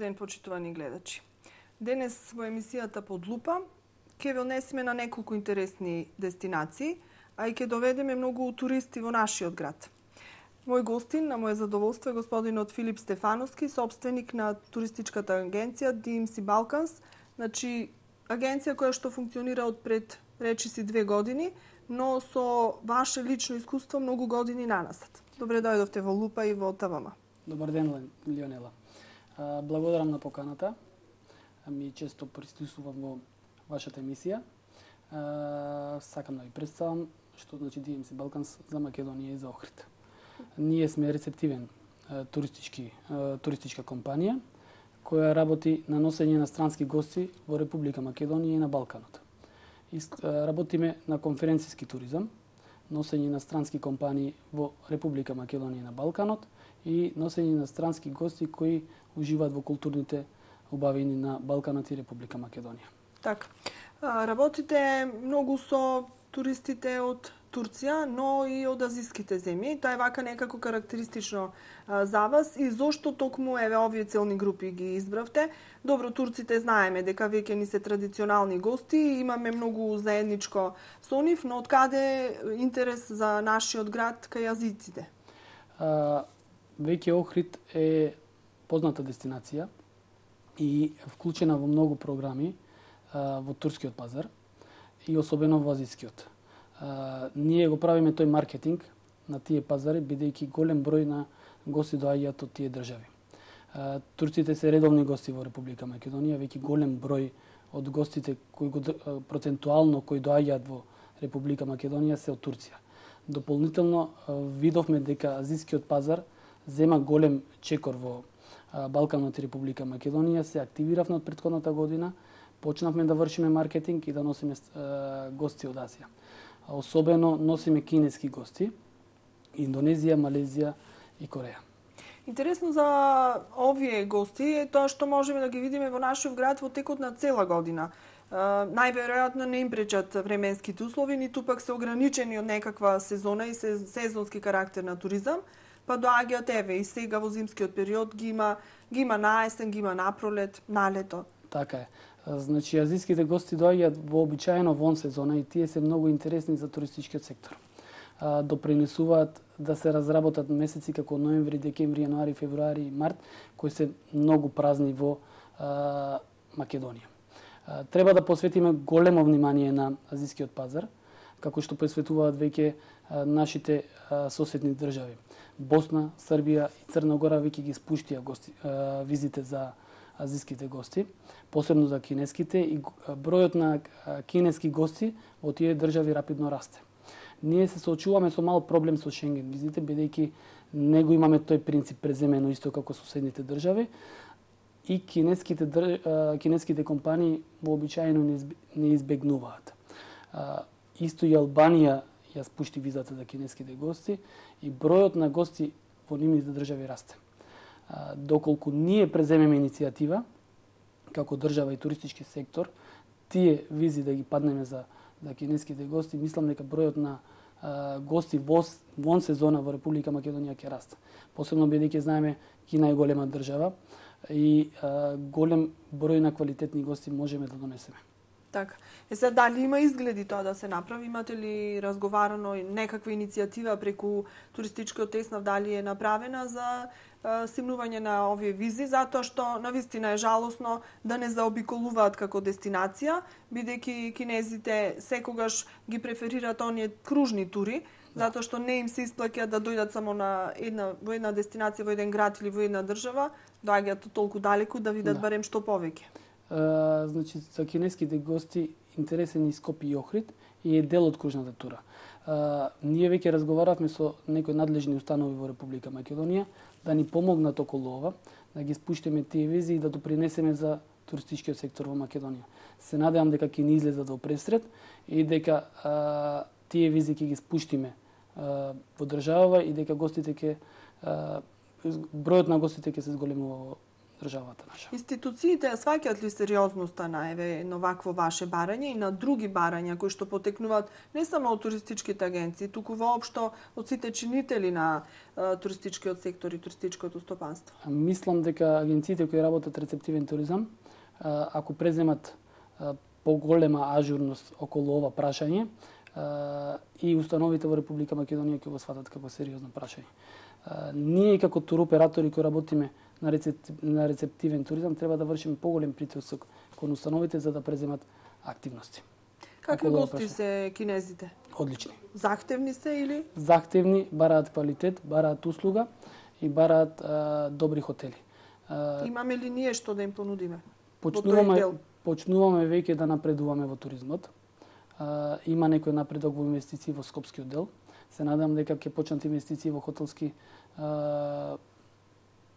ден, почитувани гледачи. Денес во емисијата Под лупа ќе ве однесеме на неколку интересни дестинации, а и ќе доведеме многу туристи во нашиот град. Мој гостин, на моје задоволство, е господинот Филип Стефановски, собственик на туристичката агенција DMC Balkans, значи агенција која што функционира од пред речиси 2 години, но со ваше лично искуство многу години наназад. Добре дојдовте во Лупа и во ТВМ. Добар ден, Лионела. Благодарам на поканата. Ми често присуствувам во вашата емисија. Сакам да ви представам што значи DMC Balkans за Македонија и за Охрид. Ние сме рецептивен туристичка компанија која работи на носење на странски гости во Република Македонија и на Балканот. Работиме на конференцијски туризам, носење на странски компании во Република Македонија и на Балканот и носење на странски гости кои уживаат во културните убавини на Балканот и Република Македонија. Така. Работите многу со туристите од Турција, но и од азиските земји. Тоа е вака некако карактеристично за вас и зошто токму овие целни групи ги избравте? Добро, турците знаеме дека веќе ни се традиционални гости, имаме многу заедничко со нив, но од каде интерес за нашиот град кај азиците? Веќе Охрид е позната дестинација и вклучена во многу програми во турскиот пазар и особено во азискиот. Ние го правиме тој маркетинг на тие пазари, бидејќи голем број на гости доаѓаат од тие држави. Турците се редовни гости во Република Македонија, веќе голем број од гостите процентуално кои доаѓаат во Република Македонија се од Турција. Дополнително видовме дека азискиот пазар зема голем чекор во Балканот и Република Македонија, се активиравме од претходната година, почнавме да вршиме маркетинг и да носиме гости од Азија. Особено носиме кинески гости, Индонезија, Малезија и Кореја. Интересно за овие гости е тоа што можеме да ги видиме во нашиот град во текот на цела година. Најверојатно не им пречат временските услови, ниту пак се ограничени од некаква сезона и сезонски карактер на туризам, па доаѓаат и сега во зимскиот период ги има на есен, ги има на пролет, на лето. Така е. Значи, азиските гости доаѓаат вообичаено вон сезона и тие се многу интересни за туристичкиот сектор. Допринесуваат да се разработат месеци како ноември, декември, јануари, февруари и март, кои се многу празни во Македонија. Треба да посветиме големо внимание на азискиот пазар, како што посветуваат веќе нашите соседни држави. Босна, Србија и Црна Гора веќе ги спуштија визите за азиските гости, посебно за кинеските, и бројот на кинески гости во тие држави рапидно расте. Ние се соочуваме со мал проблем со Шенген визите, бидејќи не го имаме тој принцип преземено исто како соседните држави и кинеските компании вообичаено не избегнуваат. Исто и Албанија ја спушти визата за кинеските гости и бројот на гости во нивните држави расте. Доколку ние преземеме иницијатива како држава и туристички сектор, тие визи да ги паднеме за кинеските гости, мислам дека бројот на гости вон сезона во Република Македонија ќе расте. Посебно бидејќи знаеме Кина е голема држава и голем број на квалитетни гости можеме да донесеме. Така. Сега дали има изгледи тоа да се направи? Имате ли разговарано некаква иницијатива преку туристичкиот теснав, дали е направена за симнување на овие визи, затоа што навистина е жалосно да не заобиколуваат како дестинација, бидејќи кинезите секогаш ги преферираат оние кружни тури, затоа што не им се исплаќа да дојдат само во една дестинација, во еден град или во една држава, доаѓаат толку далеку да видат барем што повеќе. Значи, за кинеските гости интересен и Скопје и Охрид и е дел од кружната тура. Ние веќе разговаравме со некои надлежни установи во Република Македонија да ни помогнат околу ова, да ги спуштиме тие визи и да допринесеме за туристичкиот сектор во Македонија. Се надевам дека ќе ни излезат во пресред и дека тие визи ќе ги спуштиме во државава и дека гостите бројот на гостите ќе се зголемува државата наша. Институциите сваќаат ли сериозноста на вакво ваше барање и на други барања кои што потекнуваат не само од туристичките агенции, туку воопшто од сите чинители на туристичкиот сектор и туристичкото стопанство? Мислам дека агенциите кои работат рецептивен туризам, ако преземат поголема ажурност околу ова прашање, и установите во Република Македонија ќе го сватат како сериозно прашање. Ние како туроператори кои работиме на рецептивен туризам треба да вршиме поголем притисок кон установите за да преземат активности. Какви гости се кинезите? Одлични. Захтевни се или? Захтевни, бараат квалитет, бараат услуга и бараат добри хотели. Имаме ли ние што да им понудиме? Почнуваме веќе да напредуваме во туризмот. Има некој напредок во инвестиции во Скопскиот дел. Се надам дека ќе почнат инвестиции во хотелски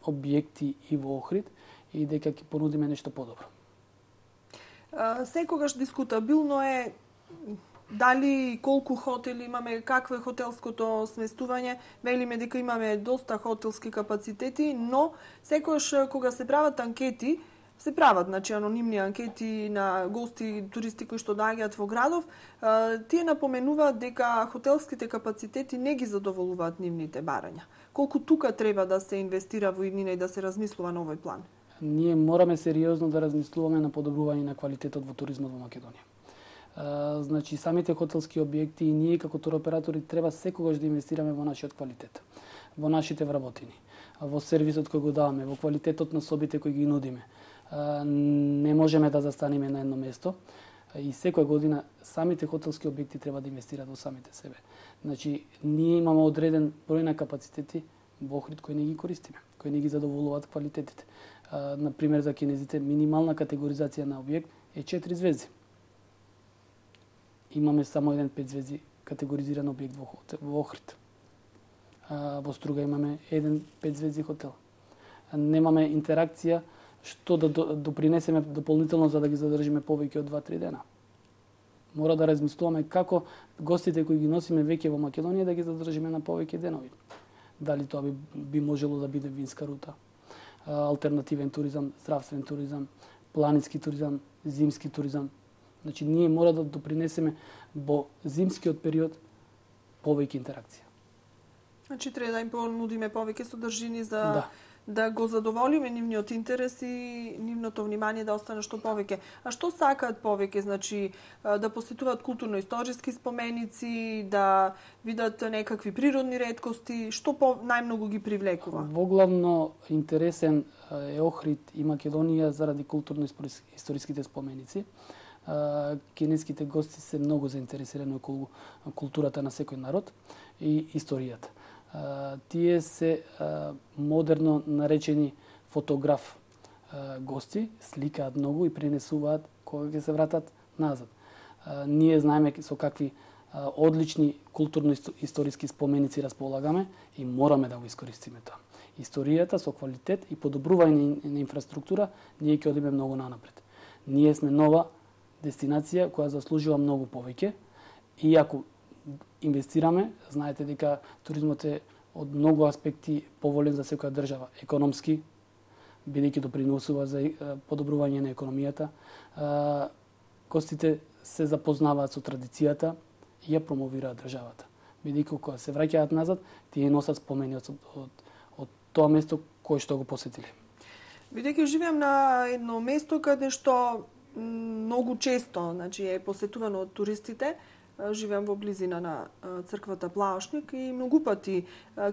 објекти и во Охрид и дека ќе понудиме нешто подобро. Секогаш дискутабилно е дали колку хотели имаме, какво е хотелското сместување. Велиме дека имаме доста хотелски капацитети, но секогаш кога се прават анкети, се прават, значи, анонимни анкети на гости, туристи кои што доаѓаат во градов, тие напоменуваат дека хотелските капацитети не ги задоволуваат нивните барања. Колку тука треба да се инвестира во иднина и да се размислува на овој план? Ние мораме сериозно да размислуваме на подобрување на квалитетот во туризмот во Македонија. Значи, самите хотелски објекти и ние како туроператори треба секогаш да инвестираме во нашиот квалитет, во нашите вработини, во сервисот кој го даваме, во квалитетот на собите кои ги нудиме. Не можеме да застанеме на едно место и секоја година самите хотелски објекти треба да инвестираат во самите себе. Значи, ние имаме одреден број на капацитети во Охрид кои не ги користиме, кои не ги задоволуваат квалитетите. Например, за кинезите минимална категоризација на објект е 4 звезди. Имаме само еден 5 звезди категоризиран објект во Охрид. Во Струга имаме еден 5 звезди хотел. Немаме интеракција што да допринесеме дополнително за да ги задржиме повеќе од 2-3 дена. Мора да размислуваме како гостите кои ги носиме веќе во Македонија да ги задржиме на повеќе денови. Дали тоа би можело да биде винска рута, алтернативен туризам, здравствен туризам, планински туризам, зимски туризам. Значи, ние мора да допринесеме во зимскиот период повеќе интеракција. Значи, треба да им понудиме повеќе содржини за да го задоволиме нивниот интерес и нивното внимание да остане што повеќе. А што сакаат повеќе? Значи, да посетуваат културно-историски споменици, да видат некакви природни реткости, што најмногу ги привлекува? Воглавно интересен е Охрид и Македонија заради културно-историските споменици. Кинеските гости се многу заинтересирани околу културата на секој народ и историјата. Тие се модерно наречени фотограф гости, сликаат многу и пренесуваат кога ќе се вратат назад. Ние знаеме со какви одлични културно-историски споменици располагаме и мораме да го искористиме тоа. Историјата со квалитет и подобрување на инфраструктура, ние ќе одиме многу нанапред. Ние сме нова дестинација која заслужува многу повеќе и ако инвестираме, знаете дека туризмот е од многу аспекти поволен за секоја држава. Економски, бидејќи допринесува за подобрување на економијата. Гостите се запознаваат со традицијата и ја промовираат државата. Бидејќи кога се враќаат назад, тие носат спомени од тоа место кој што го посетиле. Бидејќи живеам на едно место каде што многу често, значи, е посетувано од туристите, живеам во близина на црквата Плаошник и многу пати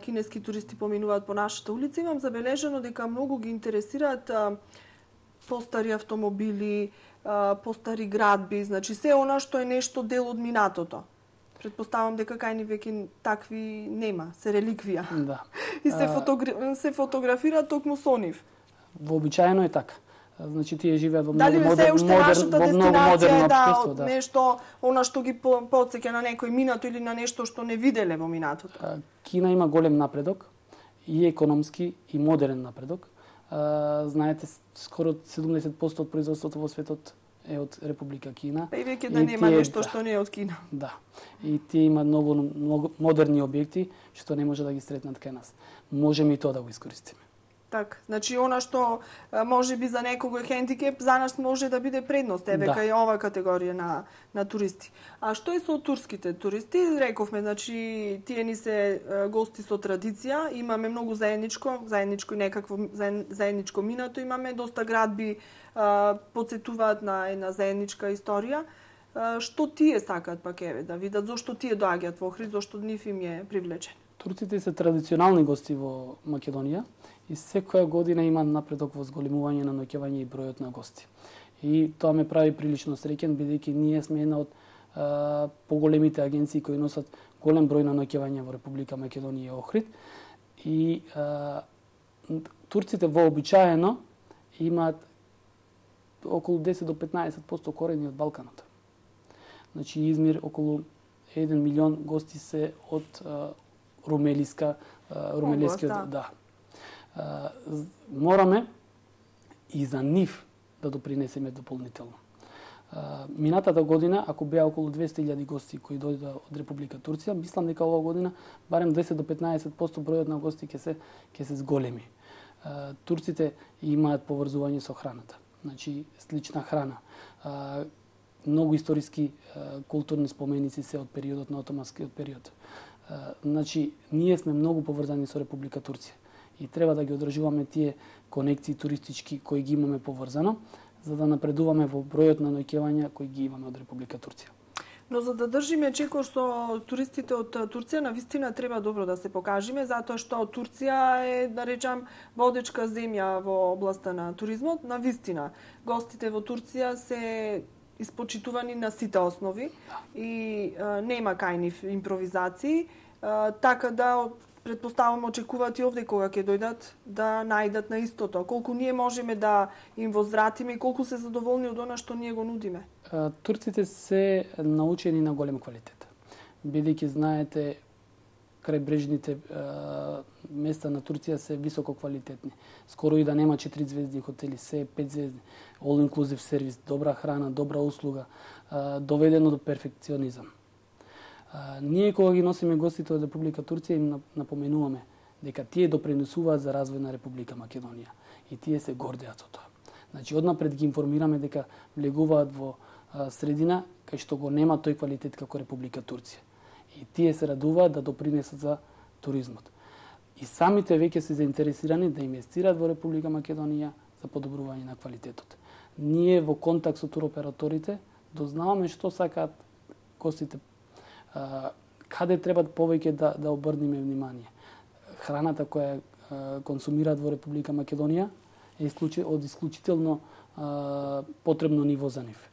кинески туристи поминуваат по нашата улица. Имам забележено дека многу ги интересираат постари автомобили, постари градби, значи се она што е нешто дел од минатото. Предпоставам дека кај ни веќе такви нема, се реликвија. Да. И се фотографираат токму со нив. Вообичаено е така. Значи, тие живеат во многу модерно општество, да, нешто, она што ги потсеќа на некој минато или на нешто што не виделе во минатото. Кина има голем напредок, и економски, и модерен напредок. Знаете, скоро 70% од производството во светот е од Република Кина. И веќе да нема нешто што не е од Кина. Да. И тие имаат многу модерни објекти што не може да ги сретнат кај нас. Можеме и тоа да го искористиме. Така, значи она што може би за некого е хендикеп, за нас може да биде предност, кај ова категорија на туристи. А што е со турските туристи? Рековме, значи тие ни се гости со традиција, имаме многу заедничко и некакво заедничко минато, имаме доста градби потсетуваат на една заедничка историја. Што тие сакаат пак да видат, зошто тие доаѓаат во Охрид, зошто нив им е привлечен? Турците се традиционални гости во Македонија и секоја година има напредок во зголемување на ноќевање и бројот на гости. И тоа ме прави прилично среќен, бидејќи ние сме една од поголемите агенции кои носат голем број на ноќевања во Република Македонија и Охрид. И турците вообичаено имаат околу 10 до 15% корени од Балканот. Значи Измир околу 1 милион гости се од румелискиот, да. Мораме и за нив да допринесеме дополнително. Минатата година, ако беа околу 200.000 гости кои дојдоа од Република Турција, мислам дека оваа година барем 10 до 15% бројот на гости ќе се зголеми. Турците имаат поврзување со храната, значи слична храна. Многу историски културни споменици се од периодот на отоманскиот период. Значи, ние сме многу поврзани со Република Турција и треба да ги одржуваме тие конекции туристички кои ги имаме поврзано, за да напредуваме во бројот на ноќевања кои ги имаме од Република Турција. Но за да држиме чекор со туристите од Турција, навистина треба добро да се покажеме, затоа што Турција е, да речам, водечка земја во областа на туризмот. Навистина, гостите во Турција се испочитувани на сите основи и нема кај нив импровизации, така да предпоставам очекуваат и овде кога ќе дојдат да најдат на истото. Колку ние можеме да им возвратиме и колку се задоволни од она што ние го нудиме? Турците се научени на голем квалитет. Бидејќи знаете крајбрежните места на Турција се високо квалитетни. Скоро и да нема 4 звездни хотели, се 5 звездни. All inclusive сервис, добра храна, добра услуга, доведено до перфекционизам. Ние кога ги носиме гостите од Република Турција им напоменуваме дека тие допринесуваат за развој на Република Македонија и тие се гордеат со тоа. Значи однапред ги информираме дека влегуваат во средина кај што го нема тој квалитет како Република Турција. И тие се радуваат да допринесат за туризмот. И самите веќе се заинтересирани да инвестираат во Република Македонија за подобрување на квалитетот. Ние во контакт со туроператорите дознаваме што сакаат гостите, каде треба повеќе да обрнеме внимание. Храната која консумираат во Република Македонија е од исклучително потребно ниво за нив.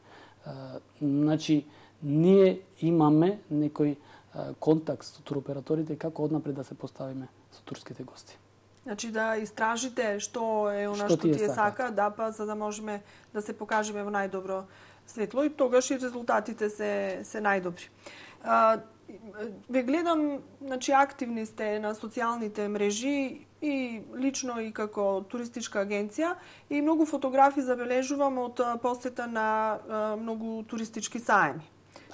Значи, ние имаме некој контакт со туроператорите како однапред да се поставиме со турските гости. Значи да истражите што е она што тие сака, да, па за да можеме да се покажеме во најдобро светло и тогаш и резултатите се најдобри. Ве гледам, значи активни сте на социјалните мрежи и лично и како туристичка агенција и многу фотографии забележувам од посета на многу туристички саеми.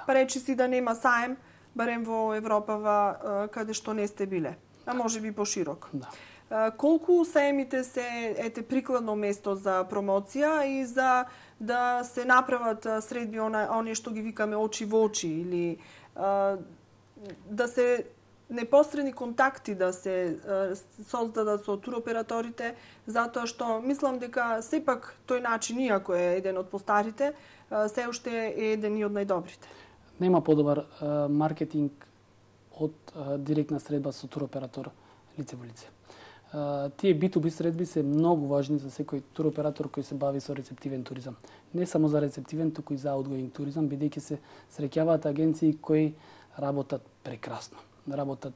Па речи си да нема саем, барем во Европа каде што не сте биле, а може би пошироко. Да. Колку саемите се прикладно место за промоција и за да се направат средби оние што ги викаме очи во очи или да се непосредни контакти да се создадат со туроператорите, затоа што мислам дека сепак тој начин, иако е еден од постарите, се уште е еден и од најдобрите. Нема подобар маркетинг од директна средба со туроператор лице во лице. Тие B2B средби се многу важни за секој туроператор кој се бави со рецептивен туризам. Не само за рецептивен, туку и за outgoing туризам, бидејќи се среќаваат агенции кои работат прекрасно, работат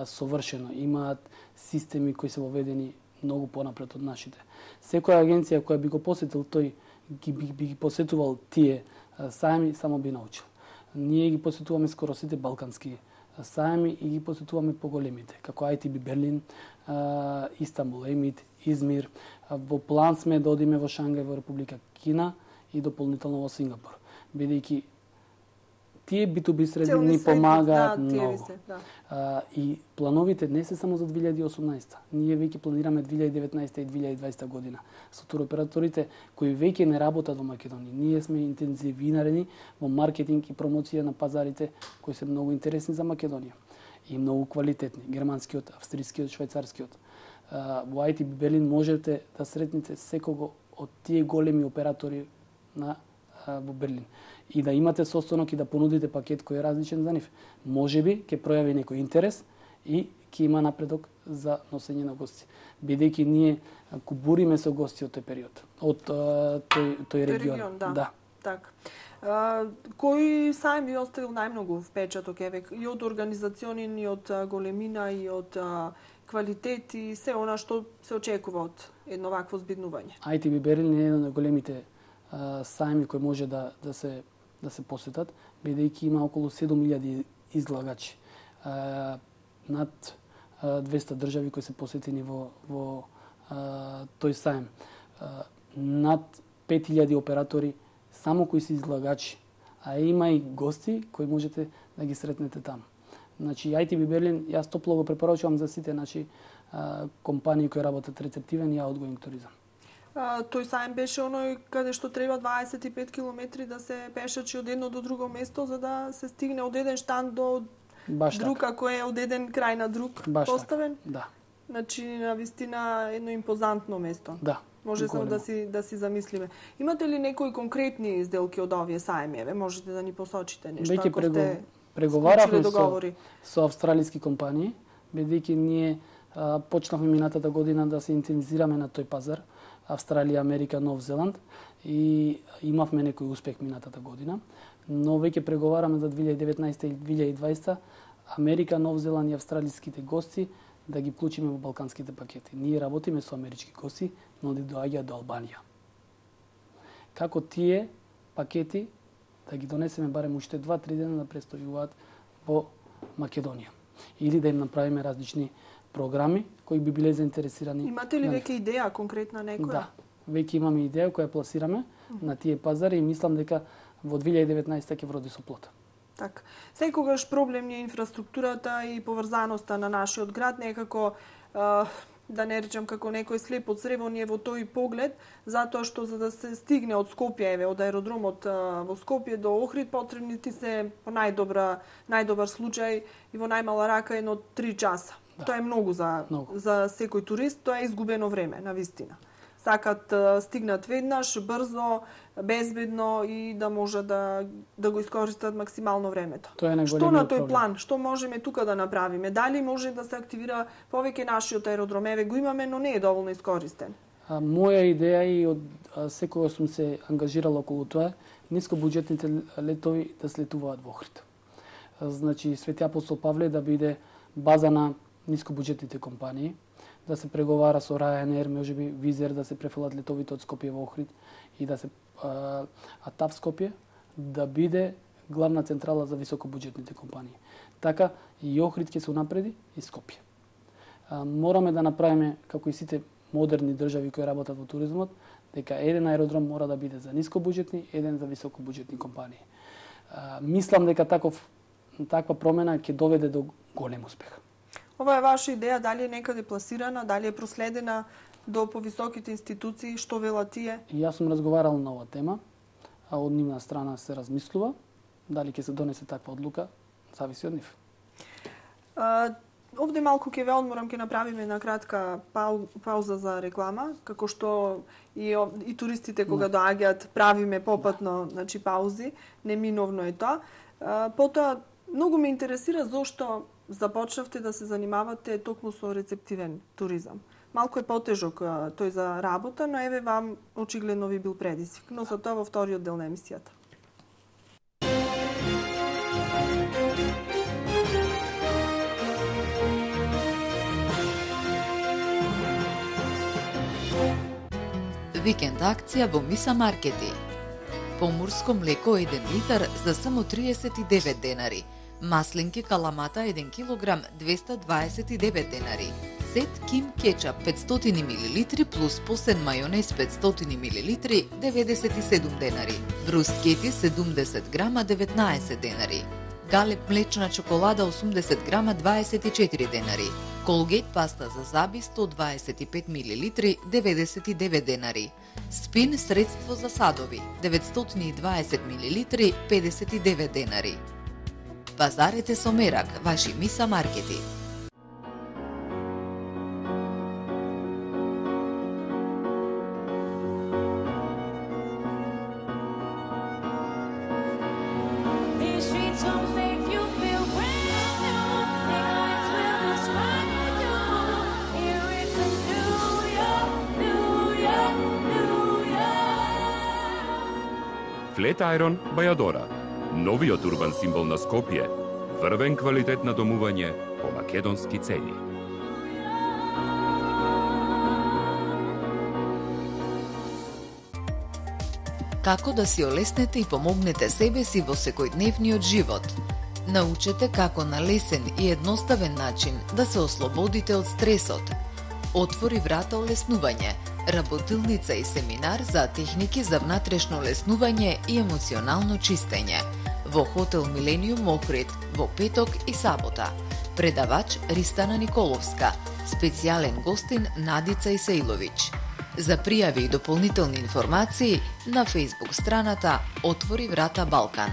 совршено, имаат системи кои се воведени многу понапред од нашите. Секоја агенција која би го посетил тој, би ги посетувал тие саеми, само би научил. Ние ги посетуваме скоро сите балкански саеми и ги посетуваме поголемите, како ITB Берлин, Истанбул, Емит, Измир. Во план сме да одиме во Шангај, во Република Кина и дополнително во Сингапур, бидејќи Тие B2B средби ни помагаат многу. Да. И плановите не се само за 2018. Ние веќе планираме 2019 и 2020 година. Со туроператорите кои веќе не работат во Македонија, ние сме интензивирани во маркетинг и промоција на пазарите кои се многу интересни за Македонија и многу квалитетни, германскиот, австрискиот, швајцарскиот. Во ITB Берлин можете да сретнете секого од тие големи оператори во Берлин и да имате состанок и да понудите пакет кој е различен за нив. Можеби ќе пројави некој интерес и ќе има напредок за носење на гости. Бидејќи ние кубуриме со гости од тој период, од тој регион. Да. Така. Кој сајм ви оставил најмногу впечаток и од организационин, и од големина, и од квалитет и се она што се очекува од едно вакво збиднување? ITB Берлин е еден од големите сајми кои може да се посетат, бидејќи има околу 7000 излагачи. Над 200 држави кои се посетени во тој сајм. Над 5000 оператори само кои се излагачи, а има и гости кои можете да ги сретнете таму. Значи, ITB Берлин, јас топло го препорачувам за сите компании кои работат рецептивен и аутгоинг туризам. Тој сајм беше оној каде што треба 25 километри да се пешачи од едно до друго место за да се стигне од еден штанд до друг, ако е од еден крај на друг поставен? Да. Значи, навистина едно импозантно место. Да. Може само да си замислиме. Имате ли некои конкретни изделки од овие сајми? Можете да ни посочите нешто ако сте преговаравме со австралиски компании, бидејќи ние почнавме минатата година да се интензираме на тој пазар, Австралија, Америка, Нов Зеланд, и имавме некој успех минатата година, но веќе преговараме за 2019 и 2020 Америка, Нов Зеланд и австралиските гости да ги вклучиме во балканските пакети. Ние работиме со амерички гости, но да доаѓаат до Албанија. Како тие пакети да ги донесеме барем уште 2-3 дена да престојуваат во Македонија. Или да им направиме различни програми кои би биле заинтересирани. Имате ли веќе идеја конкретна некоја? Да, веќе имаме идеја која пласираме на тие пазари и мислам дека во 2019 ќе вроди со плод. Така. Секогаш проблем е инфраструктурата и поврзаноста на нашиот град, некако да не речам како некој слеп од црево ни е во тој поглед, затоа што за да се стигне од Скопје, од аеродромот во Скопје до Охрид, потребни ти се по најдобар случај и во најмала рака едно 3 часа. Да. Тоа е многу за секој турист, тоа е изгубено време, навистина. Сакат стигнат веднаш, брзо, безбедно и да може да го искористат максимално времето. Што на тој план? Што можеме тука да направиме? Дали може да се активира повеќе нашиот аеродром? Еве го имаме, но не е доволно искористен. Моја идеја и од секогаш сум се ангажирал околу тоа, нискобуџетните летови да слетуваат во Охрид. Значи, Свети Апостол Павле да биде база на нискобуџетните компании, да се преговара со Ryanair, можеби Визер да се префалат летовите од Скопје во Охрид и да се ТАВ Скопје да биде главна централа за високобуџетните компании. Така и Охрид ќе се унапреди и Скопје. Мораме да направиме како и сите модерни држави кои работат во туризмот, дека еден аеродром мора да биде за нискобуџетни, еден за високобуџетни компании. Мислам дека таква промена ќе доведе до голем успех. Ова е ваша идеја, дали е некаде пласирана, дали е проследена до повисоките институции, што велат тие? Јас сум разговарал на оваа тема, а од нивна страна се размислува, дали ќе се донесе таква одлука, зависи од нив. Овде малку ќе ве одморам, ќе направиме на кратка пауза за реклама, како што и туристите кога доаѓаат правиме попатно, значи паузи, неминовно е тоа. Потоа многу ме интересира зошто започнавте да се занимавате токму со рецептивен туризам. Малку е потежок тој за работа, но еве вам очигледно ви бил предизвик. Но за тоа во вториот дел на емисијата. Викенд акција во Миса Маркети. Поморско млеко 1 литар за само 39 денари. Маслинки каламата 1 килограм 229 денари. Сет Ким кетчап 500 мл плюс посен мајонез 500 мл 97 денари. Брускети 70 грама 19 денари. Галеп млечна чоколада 80 грама 24 денари. Колгейт паста за заби 125 мл 99 денари. Спин средство за садови 920 мл 59 денари. Пазарете со мерак, ваши Миса маркети. Flat Iron Bajadora, новиот урбан символ на Скопје, врвен квалитет на домување по македонски цени. Како да си олеснете и помогнете себе си во секојдневниот живот? Научете како на лесен и едноставен начин да се ослободите од стресот. Отвори врата олеснување, работилница и семинар за техники за внатрешно олеснување и емоционално чистење. Во хотел Милениум Охрид, во петок и сабота. Предавач Ристана Николовска, специјален гостин Надица Исеиловиќ. За пријави и дополнителни информации на Facebook страната Отвори врата Балкан.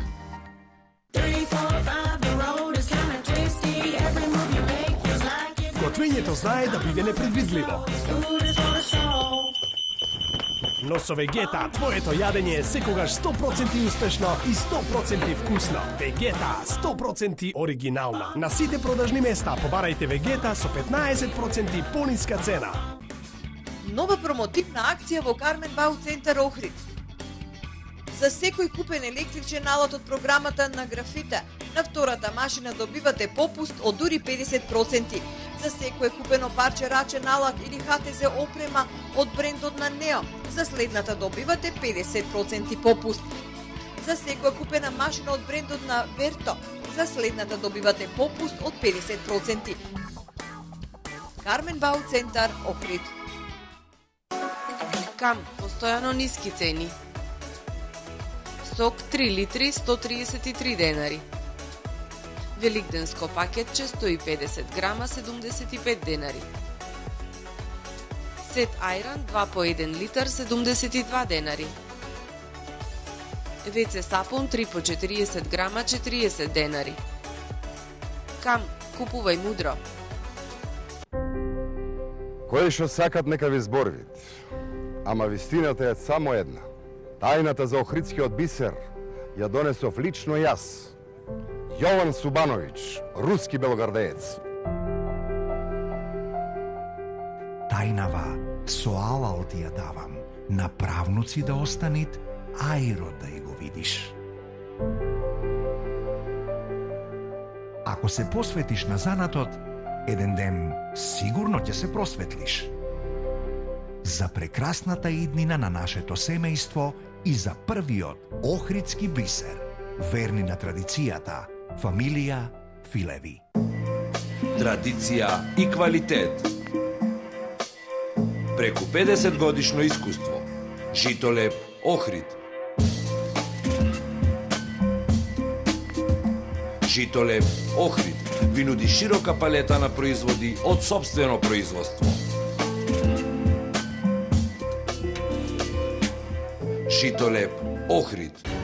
Готвењето знае да биде непредвидливо. Но со Вегета, твоето јадење е секогаш 100% успешно и 100% вкусно. Вегета, 100% оригинална. На сите продажни места побарајте Вегета со 15% пониска цена. Нова промотивна акција во Кармен Бау Центар Охрид. За секој купен електричен алат од програмата на Графита, на втората машина добивате попуст од дури 50%. За секој купено парче рачен алат или ХТЗ опрема од брендот на Нео, за следната добивате 50% попуст. За секоја купена машина од брендот на Верто, за следната добивате попуст од 50%. Кармен Бау Центар Охрид. Кам, постојано ниски цени. Сок 3 литри 133 денари. Великденско пакетче 150 грама 75 денари. Сет ајран 2 по 1 литар 72 денари. ВЦ сапун 3 по 40 грама 40 денари. Кам, купувај мудро. Кои што сакат нека ви зборвит, ама вистината е само една. Тајната за охридскиот бисер ја донесов лично јас, Јован Субановиќ, руски белогардеец. Тајнава, со алал ти ја давам, на правнуци да останит, ајро да и го видиш. Ако се посветиш на занатот, еден ден сигурно ќе се просветлиш. За прекрасната иднина на нашето семејство и за првиот охридски бисер, верни на традицијата, фамилија Филеви. Традиција и квалитет. Преку 50 годишно искуство. Житолеп Охрид. Житолеп Охрид ви нуди широка палета на производи од сопствено производство. Житолеп Охрид.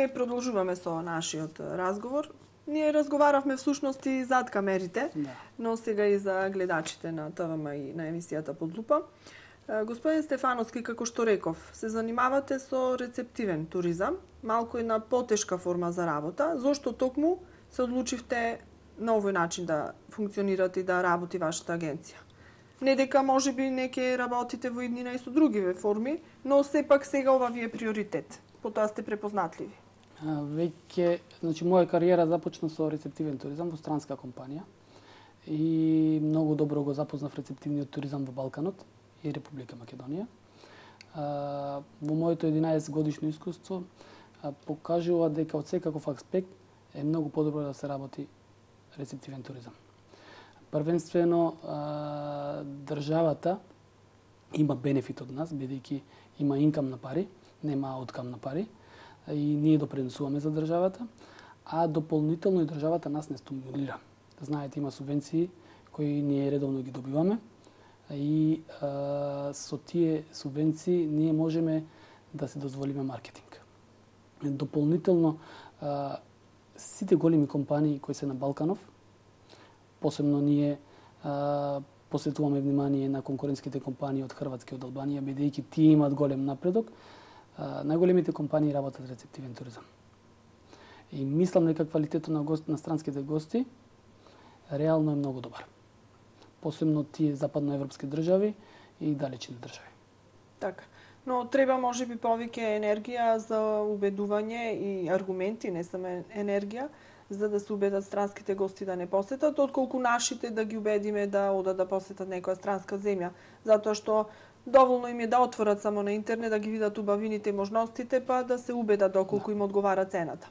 ние продолжуваме со нашиот разговор. Ние разговаравме всушност и зад камерите, но сега и за гледачите на ТВМ и на емисијата Под лупа. Господин Стефановски, како што реков, се занимавате со рецептивен туризам, малку една потешка форма за работа. Зошто токму се одлучивте на овој начин да функционирате и да работи вашата агенција? Не дека можеби неке работите во иднина и со другиве форми, но сепак сега ова ви е приоритет. Потоа сте препознатливи. Веќе, значи, моја кариера започна со рецептивен туризам во странска компанија и многу добро го запознав рецептивниот туризам во Балканот и Република Македонија. Во моето 11 годишно искуство покажува дека од секаков аспект е многу подобро да се работи рецептивен туризам. Првенствено, државата има бенефит од нас, бидејќи има инкам на пари, нема ауткам на пари, и ние допринесуваме за државата, а дополнително и државата нас не стимулира. Знаете, има субвенции кои ние редовно ги добиваме и со тие субвенции ние можеме да се дозволиме маркетинг. Дополнително, сите големи компании кои се на Балканов, посебно ние посветуваме внимание на конкурентските компании од Хрватска и од Албанија, бидејќи тие имаат голем напредок. Најголемите компании работат рецептивен туризам. И мислам дека квалитетот на странските гости реално е многу добар. Посебно тие западноевропски држави и далечни држави. Така. Но треба можеби повеќе енергија за убедување и аргументи, не само енергија, за да се убедат странските гости да не посетат, отколку нашите да ги убедиме да одат да посетат некоја странска земја, затоа што доволно им е да отворат само на интернет, да ги видат убавините и можностите, па да се убедат доколку им одговара цената.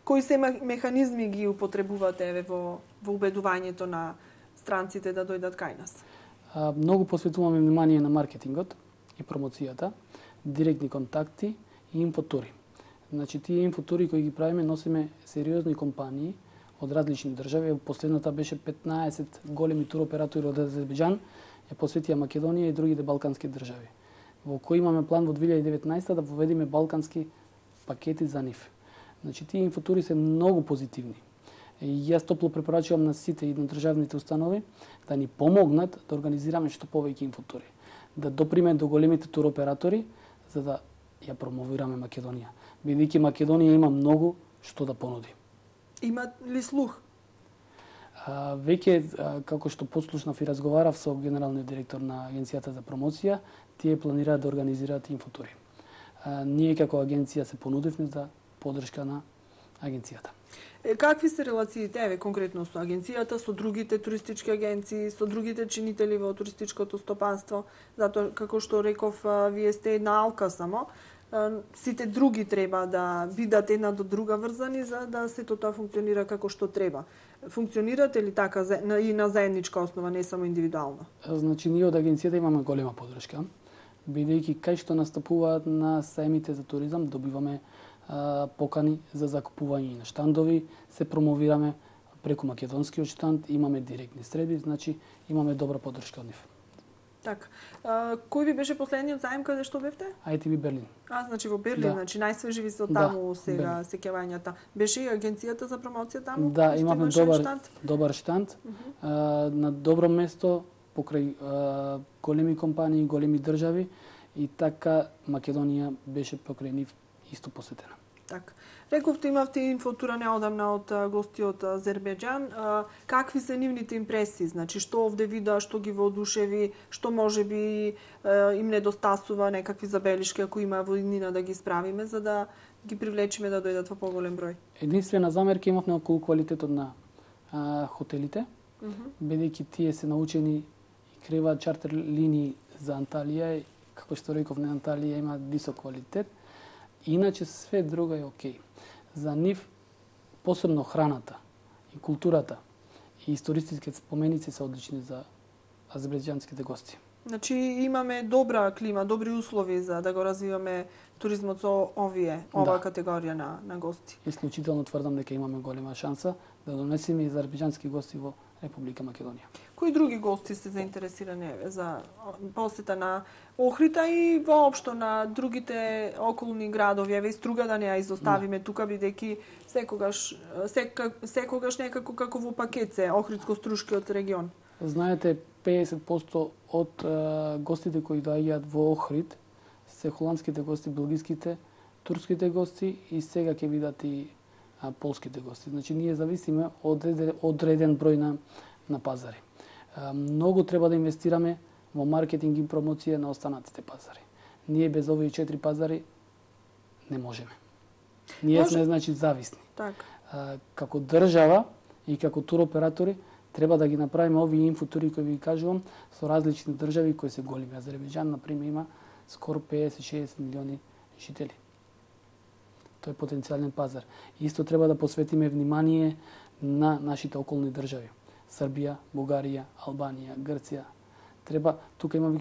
Кои се механизми ги употребувате во убедувањето на странците да дојдат кај нас? Многу посветуваме внимание на маркетингот и промоцијата, директни контакти и инфотури. Значи, тие инфотури кои ги правиме носиме сериозни компании од различни држави. Последната беше 15 големи туроператори од Азербејџан, ја посветија Македонија и другите балкански држави, во кои имаме план во 2019 да воведиме балкански пакети за нив. Значи, тие инфотури се многу позитивни. И јас топло препорачувам на сите и на државните установи да ни помогнат да организираме што повеќе инфотури, да доприме до големите туроператори за да ја промовираме Македонија. Бидејќи Македонија има многу што да понуди. Има ли слух? Веќе, како што послушнав и разговарав со генералниот директор на Агенцијата за промоција, тие планираат да организираат инфотури. Ние како агенција се понудивме за поддршка на агенцијата. Какви се релациите, конкретно со агенцијата, со другите туристички агенции, со другите чинители во туристичкото стопанство? Затоа, како што реков, вие сте една алка само, сите други треба да бидат една до друга врзани за да сето тоа функционира како што треба. Функционирате ли така и на заедничка основа, не само индивидуално? Значи, ние од агенцијата имаме голема поддршка, бидејќи кај што настапуваат на сајмите за туризам, добиваме покани за закупување на штандови, се промовираме преку македонскиот штанд, имаме директни средби, значи имаме добра поддршка од нив. Така. Кој ви беше последниот заем каде што бевте? ITB Берлин. Значи во Берлин, значи најсвежи ви се од таму сега сеќавањата. Беше и агенцијата за промоција таму? Да, имаме добар штанд. На добро место покрај големи компании, големи држави и така Македонија беше покрај нив исто посетена. Така. Рековте имавте инфотура неодамна од гости од Азербејџан. Какви се нивните импресии? Значи, што овде вида, што ги воодушеви, што можеби им недостасува, некакви забелишки, ако има во иднина да ги справиме, за да ги привлечиме да дојдат во поголем број? Единствена замерка имавме околу квалитетот на хотелите, бидејќи тие се научени и креуваат чартер линии за Анталија, како што реков, на Анталија има висок квалитет. Иначе све друго е окей. За нив, посебно храната и културата и истористичките споменици се одлични за азербејџанските гости. Значи имаме добра клима, добри услови за да го развиваме туризмот со ова категорија на гости. Исклучително тврдам дека имаме голема шанса да донесеме азербејџански гости во Република Македонија. Кои други гости се заинтересирани за посета на Охрита и воопшто на другите околни градови? Еве и Струга да не ја изоставиме тука, бидејќи секогаш некако како во пакет се Охридско-Струшкиот регион. Знаете, 50% од гостите кои доаѓаат во Охрид се холандските гости, белгиските, турските гости и сега ќе видат и полските гости. Значи, ние зависиме од одреден број на пазари. Многу треба да инвестираме во маркетинг и промоција на останатите пазари. Ние без овие 4 пазари не можеме. Ние сме, значи, зависни. Како држава и како туроператори треба да ги направиме овие инфотури кои ви кажувам со различни држави кои се големи. Азербејџан, например, има скоро 50-60 милиони жители. Тој е потенцијален пазар. Исто треба да посветиме внимание на нашите околни држави. Србија, Бугарија, Албанија, Грција. Тука имаме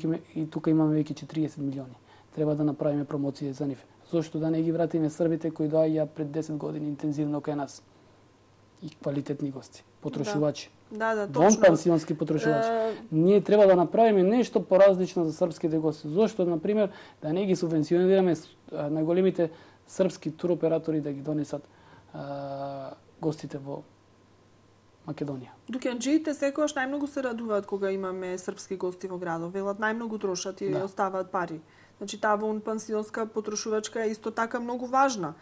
веќе 40 милиони. Треба да направиме промоција за нив. Зошто да не ги вратиме србите кои доаѓаа пред 10 години интензивно кај нас? И квалитетни гости, потрошувачи. Вон пансионски потрошувачи. Ние треба да направиме нешто поразлично за српските гости. Зошто, например, да не ги субвенционираме најголемите српски туроператори да ги донесат гостите во Македонија. Дуканџиите секогаш најмногу се радуваат кога имаме српски гости во градот. Велат најмногу трошат и оставаат пари. Значи таа вон пансионска потрошувачка е исто така многу важна.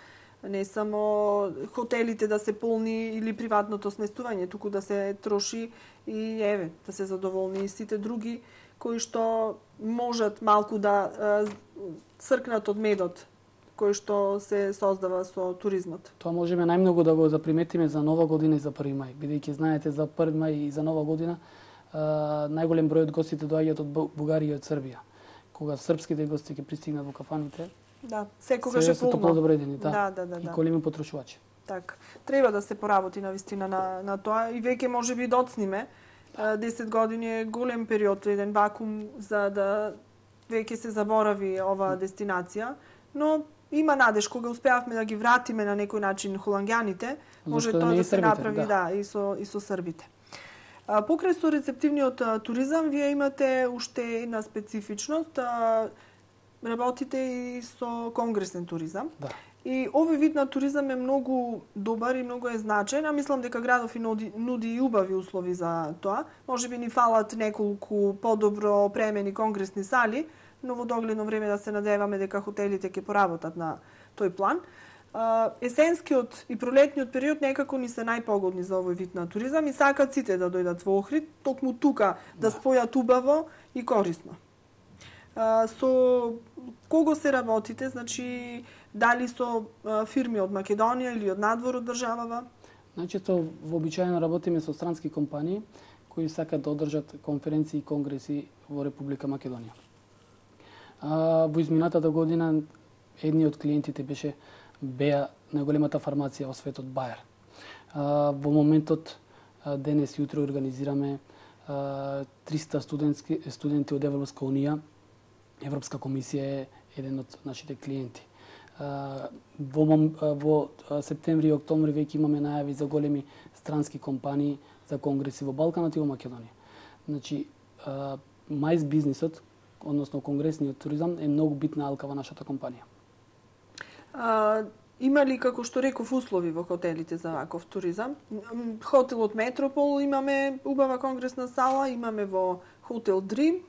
Не само хотелите да се полни или приватното сместување, туку да се троши и да се задоволни и сите други кои што можат малку да цркнат од медот кој што се создава со туризмот. Тоа можеме најмногу да го заприметиме за Нова година и за 1 мај, бидејќи знаете за 1 мај и за Нова година најголем број од гостите доаѓаат од Бугарија и од Србија. Кога српските гости ќе пристигнат во кафаните, секогаш е полно. Се топлодобредени, и големи потрошувачи. Треба да се поработи навистина на тоа и веќе можеби доцниме. 10 години е голем период, еден вакуум за да веќе се заборави оваа дестинација, но има надеж кога успеавме да ги вратиме на некој начин холанѓаните, може тоа да се направи и со србите. Покрај со рецептивниот туризам, вие имате уште една специфичност, работите и со конгресен туризам. И овој вид на туризам е многу добар и многу е значаен, а мислам дека градов и нуди и убави услови за тоа. Можеби ни фалат неколку подобро опремени конгресни сали, но во догледно време да се надеваме дека хотелите ќе поработат на тој план. Есенскиот и пролетниот период некако ни се најпогодни за овој вид на туризам и сакат сите да дојдат во Охрид, токму тука да спојат убаво и корисно. Со кого се работите? Значи, дали со фирми од Македонија или од надвор од државава? Значи, вообичаено работиме со странски компании кои сакат да одржат конференции и конгреси во Република Македонија. Во изминатата година едниот клиентите беше беа најголемата фармација во светот Бајер. Во моментот денес и утре организираме 300 студенти од Европска унија. Европска комисија е еден од нашите клиенти. Во септември и октомври веќе имаме најави за големи странски компании за конгреси во Балканот и во Македонија. Значи, мајс бизнисот, односно конгресниот туризам, е многу битна алка во нашата компанија. Има ли, како што реков, услови во хотелите за ваков туризам? Хотелот Метропол имаме убава конгресна сала, имаме во Хотел Дрим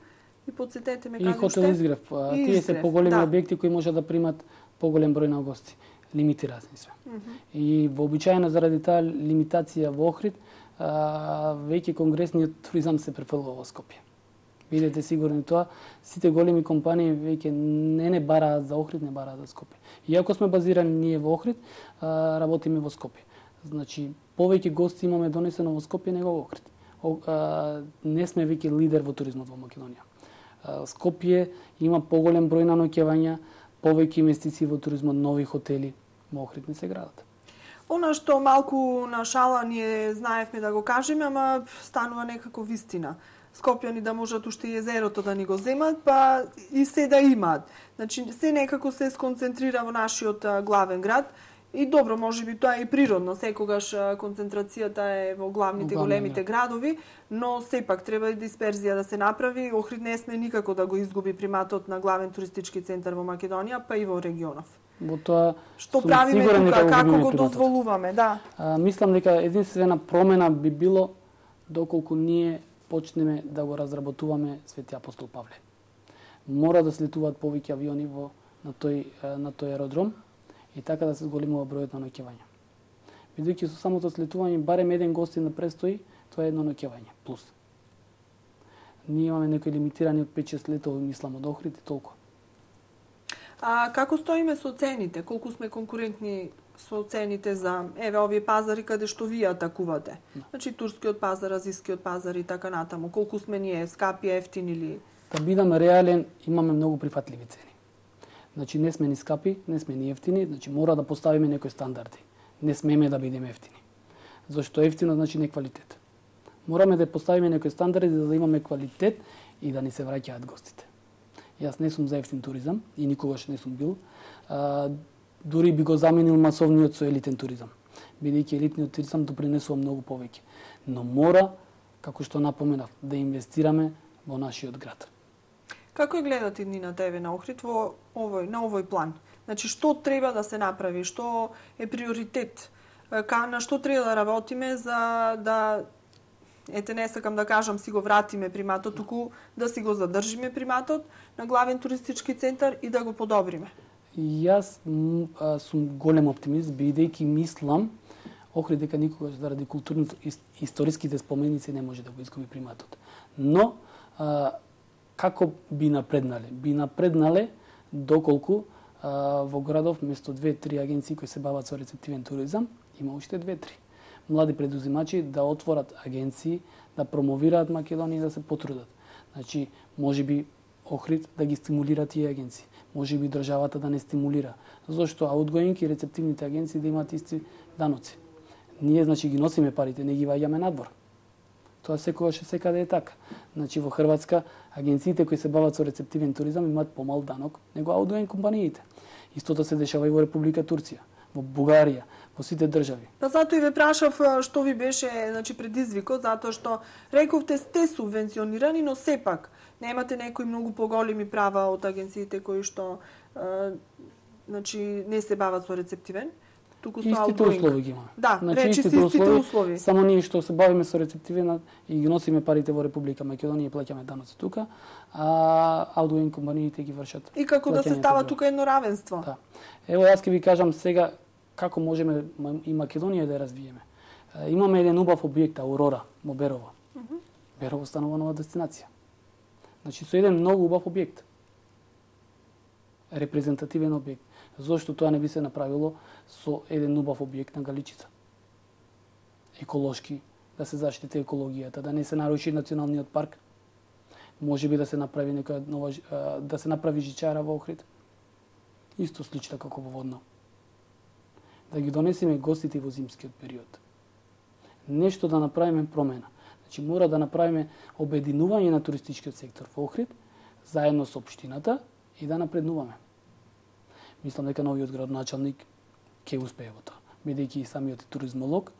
и подсетете ме каде уште. И Хотел Изгрев. Тие се поголеми објекти кои можат да примат поголем број на гости. Лимитирани се. И вообичаено заради таа лимитација во Охрид, веќе конгресниот туризам се префрлува во Скопје. Бидете сигурни тоа, сите големи компании веќе не бараат за Охрид, не бараат за Скопје. Иако сме базирани ние во Охрид, работиме во Скопје. Значи, повеќе гости имаме донесено во Скопје него во Охрид. Не сме веќе лидер во туризмот во Македонија. Скопје има поголем број на ноќевања, повеќе инвестиции во туризмот, нови хотели, во Охрид не се градат. Она што малку на шала ние знаевме да го кажеме, ама станува некако вистина. Скопјани да можат уште и езерото да ни го земат, па и се да имаат. Значи, се некако се сконцентрира во нашиот главен град И добро, можеби тоа е и природно, секогаш концентрацијата е во главните големите градови, но сепак треба и дисперзија да се направи. Охрид не сме никако да го изгуби приматот на главен туристички центар во Македонија, па и во регионов. Во тоа што правиме тука, како го дозволуваме, да. Мислам дека единствена промена би било доколку ние почнеме да го разработуваме Свети апостол Павле. Мора да слетуваат повеќе авиони на тој аеродром и така да се зголемува бројот на ноќевања. Бидејќи со самото слетување барем еден гостин да престои, тоа е едно ноќевање плюс. Ние имаме некои лимитирани од 5-6 летови, мислам, од Охрид и толку. А како стоиме со цените? Колку сме конкурентни со цените за овие пазари каде што вие атакувате? Значи турскиот пазар, азискиот пазар и така натаму. Колку сме ние скапи, ефтини или? Да бидам реален, имаме многу прифатливи цени. Значи не сме ни скапи, не сме ни ефтини, значи мора да поставиме некои стандарди. Не смеме да бидеме ефтини. Зашто ефтино значи не квалитет. Мораме да поставиме некои стандарди за да имаме квалитет и да ни се враќаат гостите. Јас не сум за ефтин туризам и никогаш не сум бил. Дури би го заменил масовниот со елитен туризам. Бидејќи елитниот туризам допринесува многу повеќе. Но мора, како што напоменав, да инвестираме во нашиот град. Како ја гледате иднината еве на Охрид на овој план? Значи што треба да се направи, што е приоритет, на што треба да работиме за да не сакам да кажам си го вратиме приматот, туку да си го задржиме приматот на главен туристички центар и да го подобриме. Јас сум голем оптимист, бидејќи мислам Охрид дека никогаш заради културно-историските споменици не може да го изгуби приматот. Но како би напреднале? Би напреднале доколку во градов вместо 2-3 агенции кои се бават со рецептивен туризам, има уште 2-3 млади предузимачи да отворат агенции, да промовираат Македонија и да се потрудат. Значи, можеби Охрид да ги стимулира тие агенции. Можеби државата да не стимулира. Зошто аутгоинг и рецептивните агенции да имаат исти даноци. Ние, значи, ги носиме парите, не ги ваѓаме надвор. Тоа секогаш секаде е така. Значи, во Хрватска, агенциите кои се бават со рецептивен туризам имаат помал данок него аутгоинг компаниите. Истото се дешава и во Република Турција, во Бугарија, во сите држави. Па затоа и ве прашав што ви беше, значи, предизвикот, затоа што рековте сте субвенционирани, но сепак немате некои многу поголеми права од агенциите кои што значи не се бават со рецептивен. Туку со истите услови ги имаме. Да, значи, речи истите услови. Само ние што се бавиме со рецептивен и ги носиме парите во Република Македонија и плаќаме даноци тука, а аутгоинг компаниите ги вршат. И како да се става тука едно равенство. Да. Ево јас ќе ви кажам сега како можеме и Македонија да ја развиеме. Имаме еден убав објект Аурора во Берово. Берово станува нова дестинација. Значи со еден многу убав објект. Репрезентативен објект. Зошто тоа не би се направило со еден убав објект на Галичица? Еколошки, да се заштити екологијата, да не се наруши националниот парк. Можеби да се направи некоја нова да се направи жичара во Охрид. Исто слична како во Водно. Да ги донесеме гостите во зимскиот период. Нешто да направиме промена. Значи мора да направиме обединување на туристичкиот сектор во Охрид заедно со општината и да напреднуваме. Мислам дека новиот градоначалник ќе успее во тоа, бидејќи и самиот туризмолог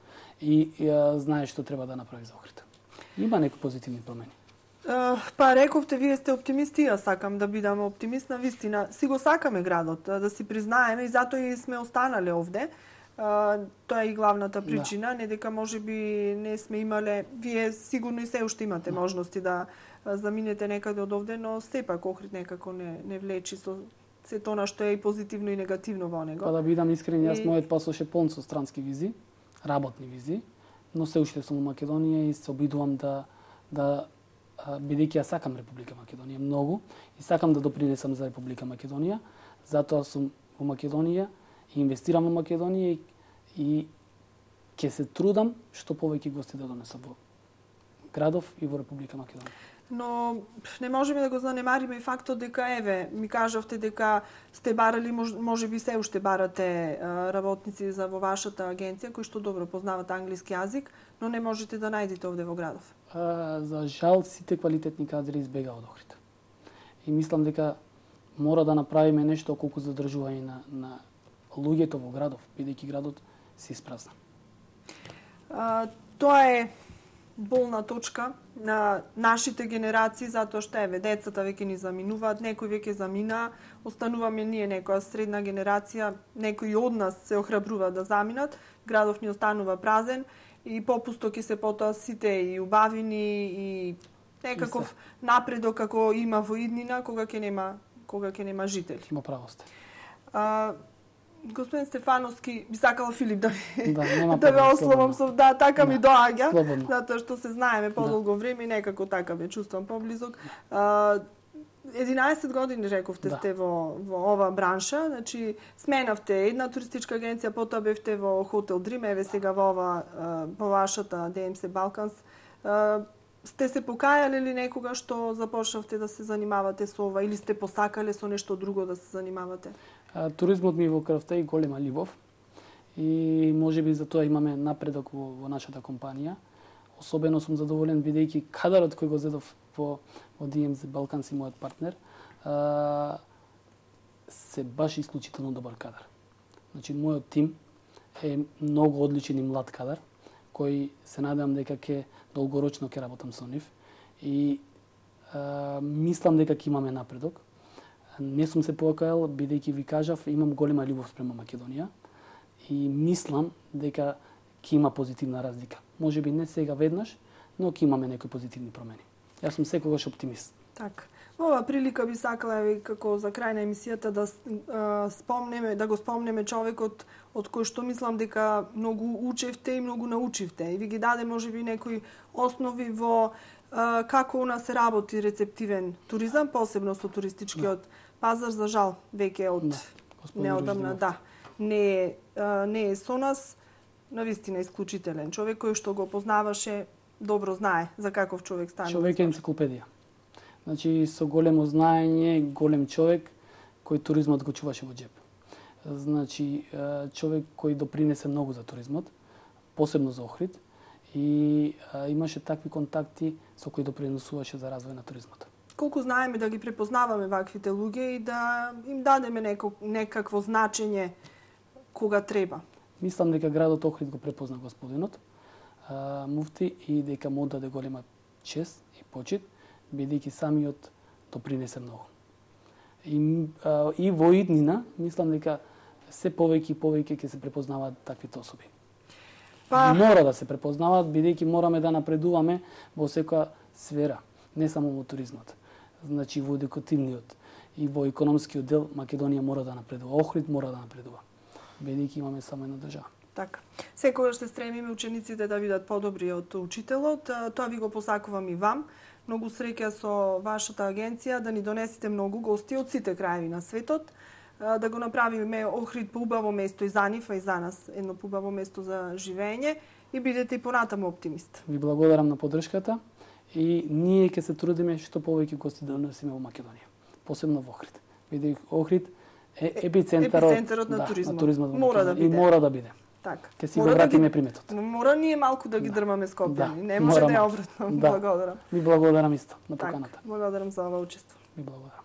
и знае што треба да направи за Охрид. Има некои позитивни промени. Па рековте, вие сте оптимисти, јас сакам да бидам оптимист на вистина. Си го сакаме градот, да си признаеме и затоа и сме останале овде. Тоа е и главната причина, не дека можеби не сме имале, вие сигурно и се уште имате можности да заминете некаде од овде, но сепак Охрид некако не влечи со се тоа што е и позитивно и негативно во него. Па да бидам искрен, јас мојот пасош е полн со странски визи, работни визи, но се уште сум во Македонија и се обидувам да бидејќи ја сакам Република Македонија многу и сакам да допринесам за Република Македонија, затоа сум во Македонија и инвестирам во Македонија и ќе се трудам што повеќе гости да донесам во градов и во Република Македонија. Но не можеме да го занемариме и фактот дека еве ми кажавте дека сте барали, можеби се уште барате работници за во вашата агенција кои што добро познават англиски јазик, но не можете да најдете овде во градов. За жал сите квалитетни кадри избегаа од Охрид. И мислам дека мора да направиме нешто колку задржување на луѓето во градов, бидејќи градот се испразна. Тоа е болна точка на нашите генерации, затоа што децата веќе ни заминуваат, некои веќе замина, остануваме ние некоја средна генерација, некои од нас се охрабруваат да заминат, градов ни останува празен и попусто ќе се потоа сите и убавини и некаков напредок како има во иднина кога ќе нема жители. Има право сте. Господин Стефановски, би сакала Филип да да ве ословам со така ми доаѓа, слободно. затоа што се знаеме подолго време и некако така ме чувствам поблизок. 11 години рековте сте во оваа бранша, значи сменавте една туристичка агенција, потоа бевте во Хотел Дрим, еве сега во вашата ДМС Балканс. Сте се покајале ли некога што започнавте да се занимавате со ова или сте посакале со нешто друго да се занимавате? Туризмот ми во крвта и голема љубов и можеби за тоа имаме напредок во нашата компанија. Особено сум задоволен бидејќи кадарот кој го зедов во DMZ Балканс и мојот партнер се баш исклучително добар кадар. Значи мојот тим е многу одличен и млад кадар кој се надевам дека ќе долгорочно ќе работам со нив и мислам дека ќе имаме напредок. Не сум се покајал, бидејќи ви кажав, имам голема љубов спрема Македонија и мислам дека ќе има позитивна разлика. Можеби не сега веднаш, но ќе имаме некои позитивни промени. Јас сум секогаш оптимист. Така. Во оваа прилика би сакала како за крај на емисијата да го спомнеме човекот од кој што мислам дека многу учевте и многу научивте и ви ги даде можеби некои основи во како у нас се работи рецептивен туризам, посебно со туристичкиот пазар, за жал веќе од неодамна не е со нас, навистина исклучителен човек кој што го познаваше, добро знае за каков човек стана. Човек е енциклопедија. Значи со големо знаење, голем човек кој туризмот го чуваше во џеб. Значи човек кој допринесе многу за туризмот, посебно за Охрид и имаше такви контакти со кои допринесуваше за развој на туризмот. Колку знаеме да ги препознаваме ваквите луѓе и да им дадеме некакво значење кога треба. Мислам дека градот Охрид го препозна господинот муфти и дека му даде голема чест и почит, бидејќи самиот допринесе многу. И во иднина, мислам дека се повеќе и повеќе ќе се препознаваат таквите особи. Мора да се препознаваат, бидејќи мораме да напредуваме во секоја сфера, не само во туризмот. Значи во едукативниот и во економскиот дел Македонија мора да напредува, Охрид мора да напредува, бидејќи имаме само една држава. Така. Секогаш се стремиме учениците да бидат подобри од учителот. Тоа ви го посакувам и вам. Многу среќа со вашата агенција, да ни донесете многу гости од сите краеви на светот, да го направиме Охрид поубаво место и за нив, а и за нас едно поубаво место за живење и бидете и понатаму оптимист. Ви благодарам на поддршката и ние ќе се трудиме што повеќе гости да донесеме во Македонија, посебно во Охрид. Бидејќи Охрид е епицентарот на туризмот. На туризмот мора да биде. И мора да биде. Така. Ќе си го вратиме приметот. Мора ние малку да ги дрмаме скопени. Не може да е обратно. Благодарам. Ви благодарам исто на поканата. Благодарам за ова учество. Ви благодарам.